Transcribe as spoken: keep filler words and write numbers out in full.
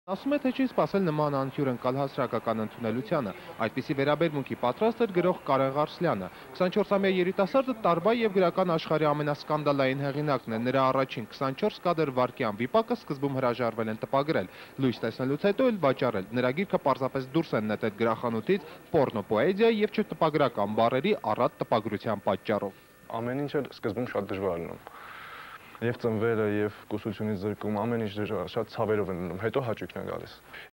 Ասում է, թե չի սպասել նման անհյուրընկալ հասարակական ընդունելությանը։ Այդպիսի վերաբերմունքի պատրաստ էր գրող Կարեն Ղարսլյանը։ քսանչորսամյա երիտասարդը տարբայ եւ գրական աշխարհի ամենասկանդալային հեղինակն է։ Նրա առաջին քսանչորս կադր վայրկյան վիպակը սկզբում հրաժարվել են տպագրել, լույս տեսնելուց հետո էլ վաճառել։ Նրա գիրքը պարզապես դուրս են նետել գրախանութից պոռնոպոեզիայի եւ չտպագրական բառերի առատ տպագրության պատճառով։ Ամեն ինչ էլ սկզբում շատ դժվար է լինում։ Եվ ծնվելը, եւ կուսությունից զրկում, ամեն ինչ դժվար, շատ ցավերով են լինում, հետո հաճույքն է գալիս։